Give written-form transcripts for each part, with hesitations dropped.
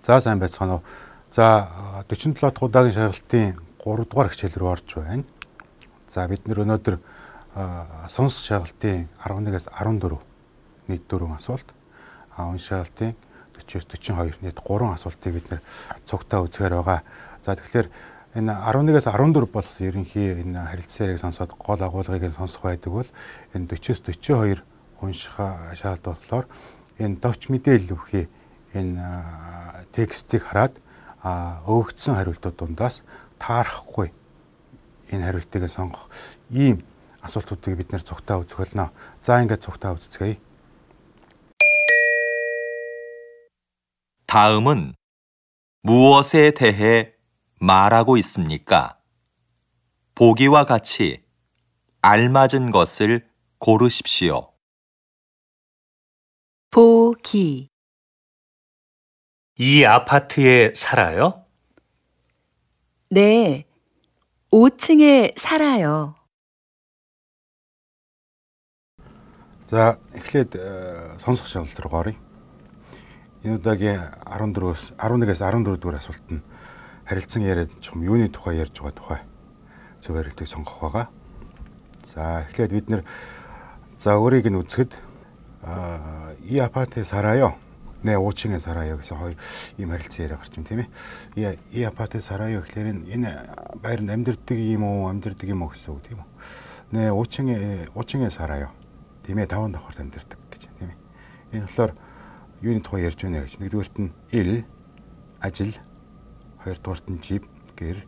За сайн байцгаана уу. За 47 дахь удаагийн шалгалтын 3 дугаар хичээл рүү орж байна. За бид нэр өнөөдөр сонс шалгалтын 11-ээс 14 нийт 4 асуулт. Үн шалгалтын 40-42 нийт 3 асуултыг бид нэр цугтаа үзэхээр байгаа. За тэгэхээр энэ 11-ээс 14 бол ерөнхий энэ харилцааг сонсоод гол агуулгыг сонсох байдаг бол энэ 40-с 42 унших шалгалт болохоор энэ товч мэдээлэл өгөхий энэ текстийг хараад өгөгдсөн хариултууд дундаас таарахгүй энэ хариултыг сонгох ийм асуултуудыг бид нэр цугтаа үзэх болно. За ингээд цугтаа үзцгээе. 다음은 무엇에 대해 말하고 있습니까? 보기와 같이 알맞은 것을 고르십시오. 보기. 이 아파트에 살아요? 네, 5층에 살아요. За эхлээд сонсох шалгалт руу оръё. Энэ удаагийн 11-ээс 14 дугаар асуулт нь харилцан яриад чухам юуны тухай ярьж байгаа тухай зөв хариултыг сонгох байгаа. За эхлээд бид нэр за өөрийг нь үзэхэд 이 아파트에 살아요. 네, 5층에 살아요. 그래서 ийм харилцан яриа гарч байна тийм ээ. 이 아파트에 살아요 гэхээр энэ байранд амьдардаг юм уу гэсэн үг тийм үү. 네, 5층에 살아요. Тийм ээ, 5 давхарт амьдардаг гэж тийм ээ. Энэ болохоор юуны тухай ярьж байна гэж. Нэгдүгээрт нь 일, ажил, хоёрдугаарт нь 집, гэр,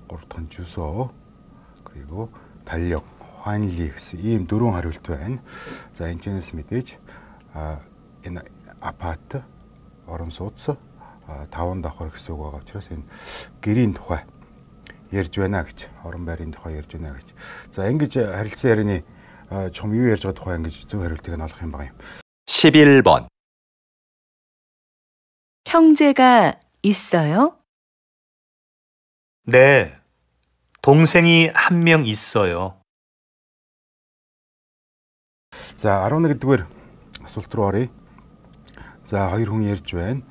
гуравдугаар нь 주소, 그리고 달력, 환리 гэсэн ийм 4 хариулт байна. За энэчнээс мэдээж энэ апарт, орон сууц, 5 давхар гэсэн үг байгаа учраас энэ гэрийн тухай ярьж байна гэж, орон байрын тухай ярьж байна гэж. За ингэж харилцан ярианы чухам юу ярьж байгаа тухай ингэж зөв хариултыг нь олох юм байна. 11번 형제가 있어요? 네, 동생이 한 명 있어요. За 11-р асуулт руу оръё. За хоёр хүн ярьж байна.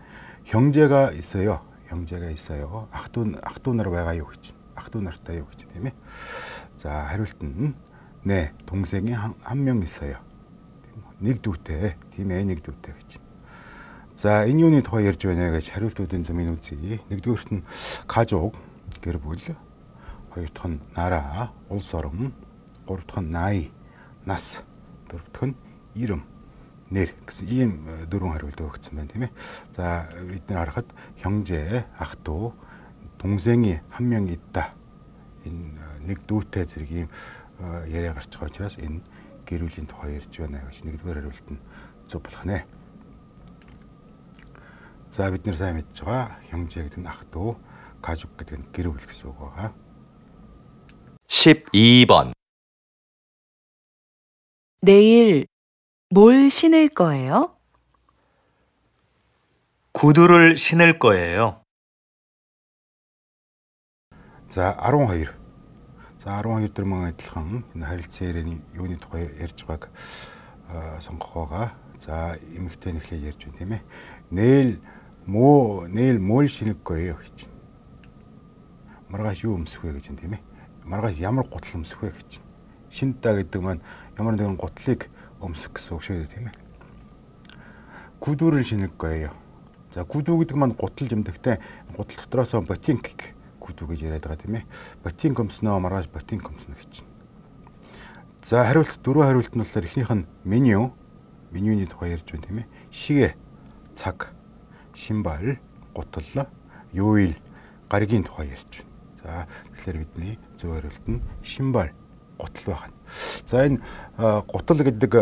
형제가 있어요. 형제가 있어요. ах トゥ нар байгаа юу гэж. ах トゥ нартай юу гэж тийм ээ. За хариулт нь 네, 동생이 한 명 있어요. нэг дүүтэй. Тийм ээ, нэг дүүтэй гэж. За энэ юуны тухай ярьж байна гэж хариултуудын зэмийг үзье. Нэгдүгээрт нь 가족, гэр бүл. Хоёр дахь нь 나라, улс орон. Гурав дахь нь 나이, нас. Дөрөв дахь нь 이름, нэр гэсэн ийм 4 хариулт өгсөн байна тийм ээ. За бид нар харахад 형제, ах トゥ, 동생이 한 명 있다. Энэ нэг дүүтэй зэрэг ийм яриа гарч байгаа учраас энэ гэр бүлийн тухай ярьж байна гэж нэгдүгээр хариулт нь зөв болох нэ. За бид нэр сайн мэдж байгаа 형제 гэдэг нь ах トゥ, 가족 гэдэг нь гэр бүл гэсэн үг байгаа. 12번 내일 뭘 신을 거예요? 구두를 신을 거예요. За 12. За 12 дээр мөн адилхан энэ харилцан ярианы юуны тухай ярьж байгааг сонгох байгаа. За эмэгтэй нэхлээ ярьж байна тийм ээ. 내일 뭘 신을 거예요 гэж. Маргааш юу өмсөх вэ гэж байна тийм ээ. Маргааш ямар гутал өмсөх вэ гэж. Шинтаа гэдэг маань ямар нэгэн гутлыг өмсөх гэсэн үг шүү дээ тийм ээ. 구두를 신을 거예요. За 구두 гэдэг маань гутал жимдэгтэй гутал дотроос ботинк 구두 гэж яриад байгаа тийм ээ. ботинк өмснөө маргааш ботинк өмснө гэж. За хариулт 4 хариулт нь болохоор эхнийх нь менюний тухай ярьж байна тийм ээ. 시계, цаг, 신발, гутал, 요일, гаригийн тухай ярьж байна. За тэгэхээр бидний зөв хариулт нь 신발, гутал байна. За энэ гутал гэдэг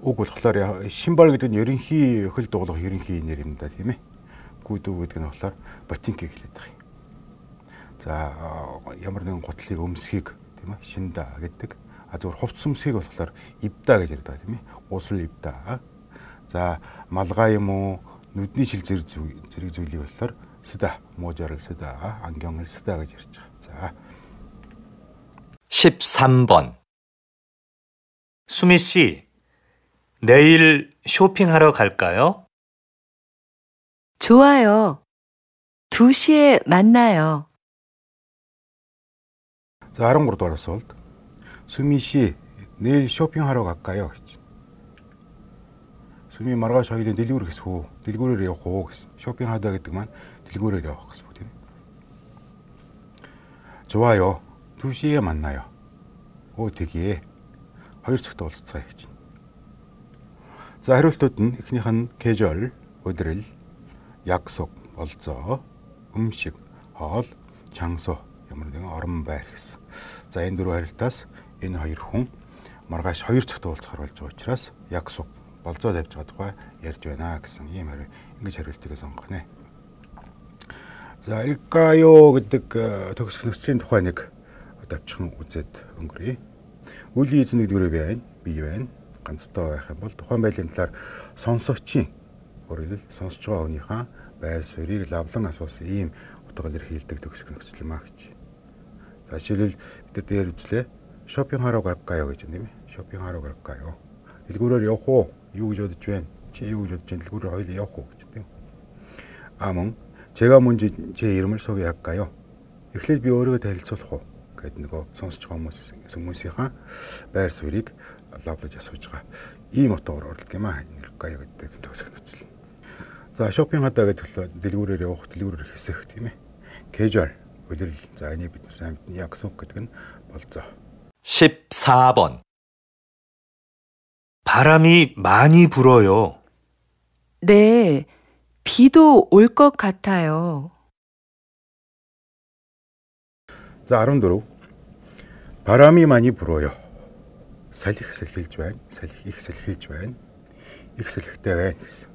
үг болохоор 신발 гэдэг нь ерөнхий хөл дуулах ерөнхий нэр юм да тийм ээ. 구두 гэдэг нь болохоор ботинкийг хэлээд байгаа юм. За ямар нэгэн гутлыг өмсөхийг тийм ээ шинда гэдэг. Зөвхөн хувцс өмсөхийг болохоор 입다 гэж ярьдаг тийм ээ. Усл 입다. За малгай юм уу нүдний шил зэрэг зүйлийг болохоор 쓰다, 모자를 쓰다, 안경을 쓰다 гэж ярьж байгаа. 자 13번 수미 씨, 내일 쇼핑하러 갈까요? 좋아요. 2시에 만나요. 자, 13 дугаар асуулт. 수미 씨, 내일 쇼핑하러 갈까요? гэж. 수미 маргааш хоёулаа дэлгүүр гэсэн үү? Дэлгүүрээр явах уу гэсэн. 쇼핑하다 гэдэг маань дэлгүүрээр явах гэсэн үг тийм. 좋아요. 2시에 만나요. 오, 되게. хоёр цагт уулзцаая гэж. За, хариултууд нь эхнийх нь 계절, өдрөл, 약속, болзоо, 음식, хоол, 장소, ямар нэгэн орон байр гэсэн. За, энэ дөрвөн хариултаас энэ хоёр хүн маргааш 2 цагт уулзахар болж байгаа учраас 약속, болзоо тавьж байгаа тухай ярьж байна гэсэн ийм хариу ингэж хариултыг сонгох нэ. За, 일까요 гэдэг төгсөх нөхцөлийн тухай нэг давчхан үзээд өнгөрье. Үлийн эзэн нэгдүгээр байна, бий байна. Ганцтай байх юм бол тухайн байдлын талаар сонсогчийн өөрөөр хэлбэл сонсож байгаа хүнийхээ байр суурийг лавлан асуусан ийм утга илэрхийлдэг төгсөх нөхцөл маа гэж. За, жишээлбэл бид дээр үзлээ. 쇼핑하러 갈까요 гэж юм тийм ээ. 쇼핑하러 갈까요? дэлгүүрээр явах уу? Юу гэж бодож байна? Чи юу гэж бодож байна? дэлгүүрээр хоёул явах уу гэж тийм. Мөн 제가 먼저 제 이름을 소개할까요? эхлээд би өөрийгөө танилцуулах уу гэдэг нөгөө сонсож байгаа хүмүүсийнхаа байр суурийг лавлаж асууж байгаа. Ийм утгаар орлог юм аа. Илкая гэдэг төгсөх нөхцөл. За, 쇼핑하다 гэдэг нь дэлгүүрээр явах, дэлгүүрээр хэсэх тийм ээ. 계절, өдрөл. За, энийг бид сайн мэднэ. 약속 гэдэг нь болзоо. 14번. 바람이 많이 불어요. 네, 비도 올 것 같아요. За, 14. 바람이 많이 불어요. салхи салхилж байна. Салхи их салхилж байна. Их салхитай байна гэсэн.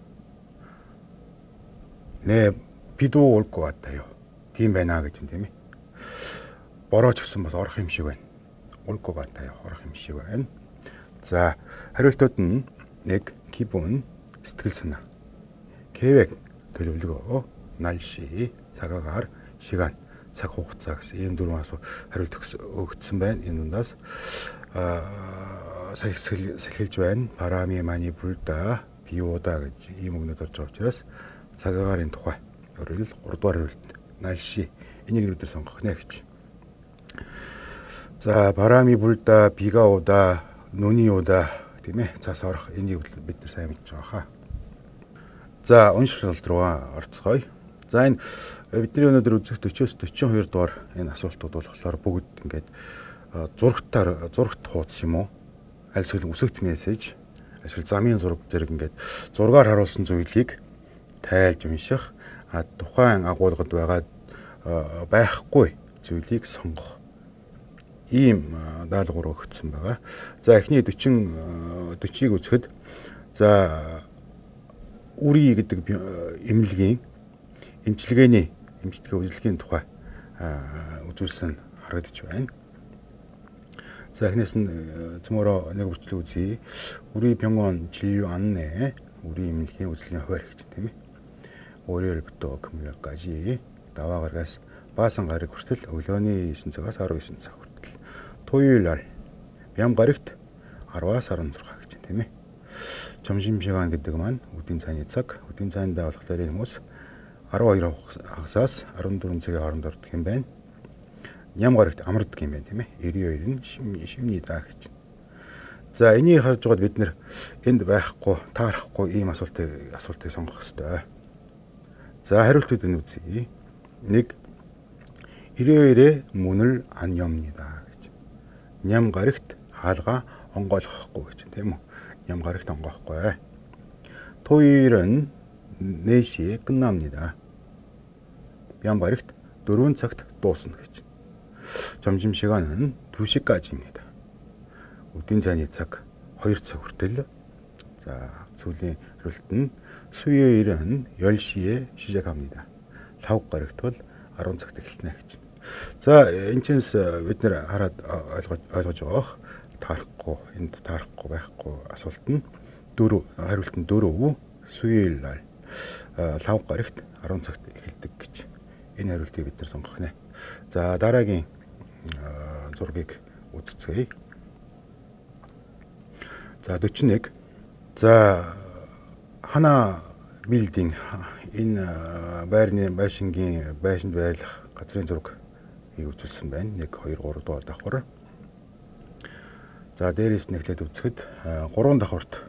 네, 비도 올 것 같아요. тийм байна гэж юм тийм ээ. борооч гэсэн бас орох юм шиг байна. 올 것 같아요. орох юм шиг байна. За, хариултууд нь 1. 기분, сэтгэл санаа. 계획, төлөвлөгөө, 날씨, цагаагаар, 시간, цаг хугацаа гэсэн ийм дөрвөн асуулт хариулт өгсөн байна. Энэ дундаас салхилж байна. 바람이 많이 불다, 비 오다 гэж ийм үгнүүд орж байгаа учраас цагаагаарын тухай. өөрөөр хэлбэл 3 дугаар хариулт 날씨 энийг бид сонгох нэ гэж. 자, 바람이 불다, 비가 오다, 눈이 오다 тийм ээ. цаас орох энийг бид нар сайн мэдж байгаа хаа. За, уншилт руу орцгоё. За, энэ бидний өнөөдөр үзэх 40-с 42 дугаар энэ асуултууд болохоор бүгд ингээд зурагт хуудас юм уу? Аль эсвэл үсэгт мессеж, эсвэл замын зураг зэрэг ингээд зургаар харуулсан зүйлийг тайлж унших, тухайн агуулгад байгаа байхгүй зүйлийг сонгох. Ийм даалгавар өгсөн байгаа. За, эхний 40-ыг үзэхэд за, үрий гэдэг эмнэлгийн эмчилгээний үзүүлэлтийн тухай үзүүлсэн харагдаж байна. За, эхнээс нь цөмөрөө нэг үрчлэг үзье. 우리 병원 진료 안내, 우리 эмнэлгийн үзүүлэлтийн хуваар гэж тийм ээ. 월요일부터 금요일까지 나와 гарагаас баасан гараг хүртэл өглөөний 9 цагаас 19 цаг хүртэл. 토요일 날 бям гарагт 10-аас 16 гэж тийм ээ. 점심시간 гэдэг маань үдийн цайны цаг. үдийн цайндаа болохоор энэ хүмүүс 12 хагасаас 14 цагийн хооронд ордог юм байна. Ням гарагт амардаг юм байна тийм ээ. 92 нь шимнийда гэж. За, энийг харж байгаад бид нэр энд байхгүй, таарахгүй ийм асуултыг сонгох хэрэгтэй. За, хариултууд нь үзье. 1. 일요일에 문을 안 엽니다 гэж. Ням гарагт хаалгаа онгойлгохгүй гэж тийм үү? Ням гарагт онгохгүй. 토요일은 4시에 끝납니다. ям гарагт 4 цагт дуусна гэж. 점심시간은 2시까지입니다. үдийн цайны цаг 2 цаг хүртэл. 자, сүүлийн хариулт нь 수요일은 10시에 시작합니다. лав гарагт бол 10 цагт эхэлнэ гэж. За, энэ ч бид нэр хараад ойлгож байгаа. энд таарахгүй байхгүй асуулт нь 4 хариулт нь 4 수요일 날 лав гарагт 10 цагт эхэлдэг гэж. Энэ хариултыг бид нар сонгох нэ. За, дараагийн зургийг үзцгээе. За, 41. За, 하나 빌딩 энэ байрны байшингийн байшинд байрлах газрын зургийг үзүүлсэн байна. 1 2 3 дугаар давхар. За дээрээс нь эхлээд үзэхэд 3 давхарт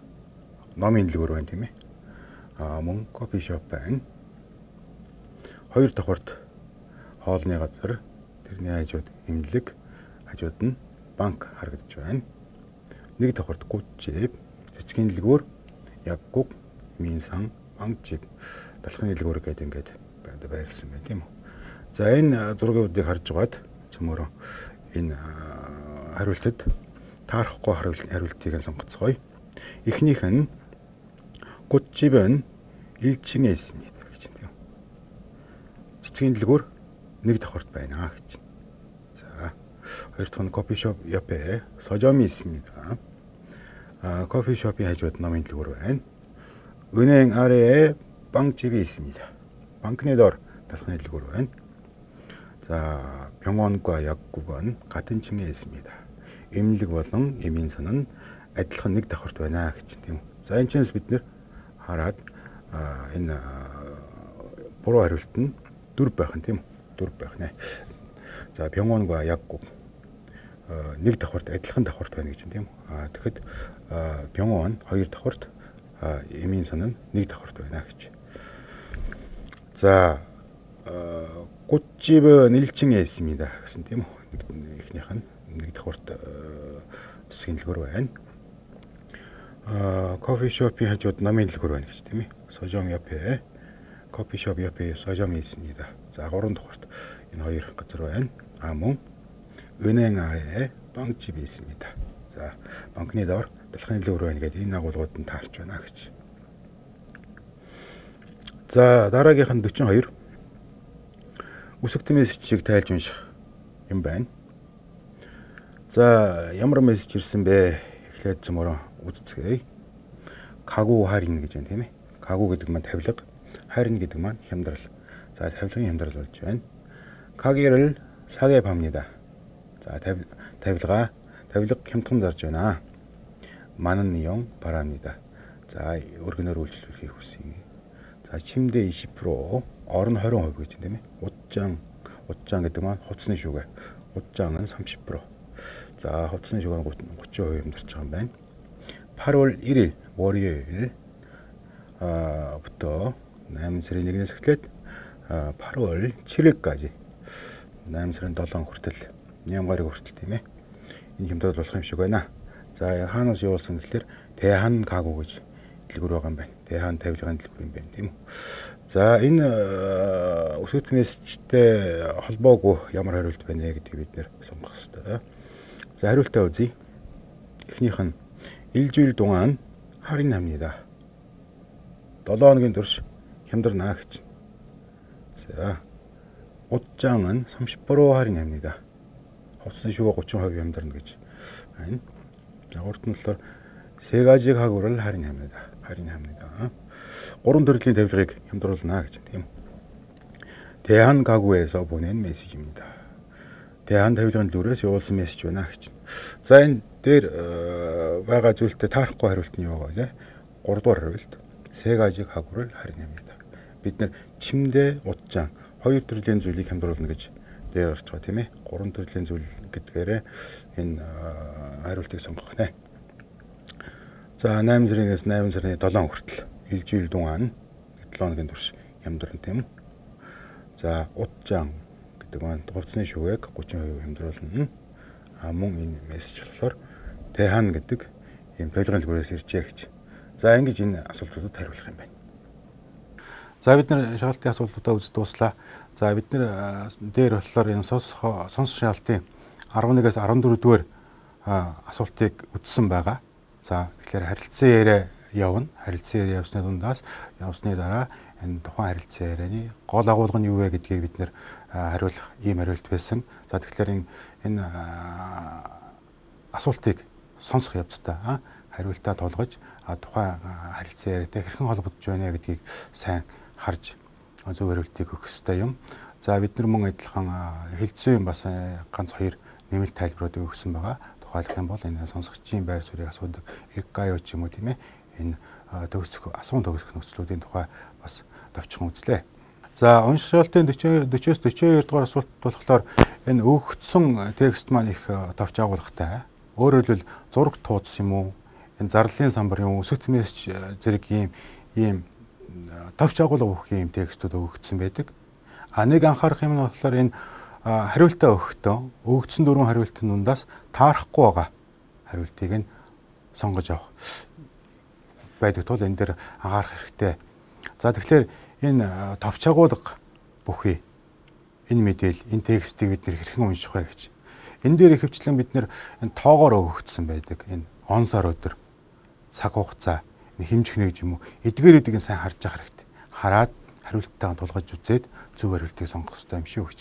номын дэлгүүр байна тийм ээ. Мөн кофе шоп байна. 2 давхарт хоолны газар, тэрний хажууд имлэг, хажууд нь банк харагдаж байна. 1 давхарт гүчэв, цэцгийн дэлгүүр, яггуг, минсан, банк жив, талхны дэлгүүр гэдэг ингээд байрлсан байна тийм үү. За энэ зургуудыг харж байгаад чөмөрөө энэ хариултад таарахгүй хариултыг сонгоцгоё. Эхнийх нь 꽃집은 1층에 있습니다 гэж байна. цэцгийн дэлгүүр 1 давхарт байна гэж. 자, хоёр дахь нь 커피숍 옆에 서점이 있습니다. 커피숍이 хажууд номын дэлгүүр байна. 은행 아래에 빵집이 있습니다. 빵크네 door талхны дэлгүүр байна. 자, 병원과 약국은 같은 층에 있습니다. 임lig болон имин선은 адилхан 1 давхарт байна гэж тийм үү. За энэ ч бид нэр хараад энэ буруу хариулт нь 4 байх нь тийм үү. 4 байх нэ. За 병원과 약국 1 давхарт адилхан давхарт байна гэж тийм үү. Тэгэхэд 병원 2 давхарт имин선은 1 давхарт байна гэж. 자, 꽃집은 1층에 있습니다 гэсэн тийм үү. Эхнийх нь 1 давхарт цэцгийн дэлгүүр байна. 커피숍이 хажууд номын дэлгүүр байна гэж тийм ээ. 서점 옆에 커피숍 옆에 서점이 있습니다. 자, 3 давхарт энэ хоёр газар байна. мөн 은행 아래에 빵집이 있습니다. 자, банкны door талхны дэлгүүр байна гэдэг энэ агуулгууд нь таарч байна гэж. За, дараагийнх нь 42. Үсэгт мессежийг тайлж унших юм байна. За, ямар мессеж ирсэн бэ? Эхлээд цөмөрөө үзцгээе. 가구 할인 гэж байна тийм ээ. 가구 гэдэг маань тавилга, 할인 гэдэг маань хямдрал. 자, тавилгын хямдрал болж байна. 가게를 사게 팝니다. 자, тавилга хямдхан зарж байна. 많은 이용 바랍니다. 자, өргөнөөр үйлчлүүлэхийг хүсье. 자, 침대 20%, орон 20% гэж байна тийм ээ. 옷장 гэдэг маань хувцсны шүгэ. 옷장은 30%. 자, хувцсны шүгэ 30% хямдарч байгаа юм байна. 8월 1일 월요일 부터 남슬의 1일에서 эхлээд 8월 7일까지 남슬은 7 хүртэл нямгарыг хүртэл тийм ээ. Энэ хямдрал болох юм шиг байна. За, хаанаас явуулсан гэхэлэр 대한 가구 гэж дэлгүүр байгаа юм байна. 대한 тавилгын дэлгүүр юм байна тийм үү. За, энэ өсөлт мессежтэй холбоогүй ямар хариулт байна гэдгийг бид нэр сонгох хэрэгтэй. За, хариултаа үзье. эхнийх нь 일주일 동안 할인합니다. 7 хоногийн турш хямдарна гэж. 자, 옷장은 30% 할인합니다. хувцсны шүгэ 30% хямдарна гэж байна. 자, урд нь болохоор 세 가지 가구를 할인합니다. 3 төрлийн тавилгыг хямдруулна гэж тийм. 대한 가구에서 보낸 메시지입니다. 대한 тавилгын дүрээс явуулсан мессеж байна гэж. За, энэ дээр байгаа зүйлтэй таарахгүй хариулт нь юу вэ? 3 дугаар хариулт. 세 가지 가구를 할인합니다. бид нэр 침대, 옷장 2 төрлийн зүйлийг хямдруулна гэж дээр орж байгаа тийм ээ. 3 төрлийн зүйл гэдгээрээ энэ хариултыг сонгох нэ. За, 8 сарынаас 8 сарын 7 хүртэл 일주일 동안 7 хоногийн турш хямдарна тийм. За, 옷장 гэдэг маань хувцсны шүгээг 30% хямдруулна. мөн энэ мессеж болохоор 대한 гэдэг энэ тавилгын дэлгүүрээс иржээ гэж. За, ингэж энэ асуултуудад хариулах юм байна. За, бид нэр шаалтын асуултуудаа үзэж дуслаа. За, бид нэр дээр болохоор энэ сонсох шаалтын 11-ээс 14 дугаар асуултыг үзсэн байгаа. За, тэгэхээр харилцан яриа явна. Харилцан яриа явсны дундаас явсны дараа энэ тухайн харилцан ярианы гол агуулга нь юу вэ гэдгийг бид нэр хариулах ийм хариулт байсан. За, тэгэхээр энэ асуултыг сонсох явцдаа хариултаа тулгаж тухайн харилцан яриатай хэрхэн холбогдож байна гэдгийг сайн харж зөв хариултыг өгөх ёстой юм. За, бид нар мөн адилхан хэлцүү юм бас ганц 2 нэмэлт тайлбаруудыг өгсөн байгаа. Тухайлах юм бол энэ сонсогчийн байр суурийг асуудаг эггаё ч юм уу тийм ээ. Энэ асуун төгсөх нөхцлүүдийн тухай бас товчхон үзлээ. За уншилтын 40-с 42 дугаар асуулт болохоор энэ өгөгдсөн текст маань их товч агуулгатай. Өөрөөр хэлбэл зураг туудас юм уу? Энэ зарлалын самбар юм уу? Өсөлт мессеж зэрэг ийм товч агуулга өгөх юм текстүүд өгөгдсөн байдаг. Нэг анхаарах юм нь болохоор энэ хариултаа өгөхдөө өгөгдсөн 4 хариултын дундаас таарахгүй байгаа хариултыг нь сонгож авах байдаг тул энэ дээр анхаарах хэрэгтэй. За тэгэхээр энэ товч агуулга бүхий энэ мэдээлэл, энэ текстийг бид нэр хэрхэн унших вэ гэж. Энэ дээр ихэвчлэн бид нэр энэ тоогоор өгөгдсөн байдаг. Энэ он сар өдөр, цаг хугацаа, хэмжих нэг юм уу эдгээрүүдийг сайн харж явах хэрэгтэй. Хараад хариулттайгаа тулгаж үзээд зөв хариултыг сонгох хэрэгтэй юм шүү гэж.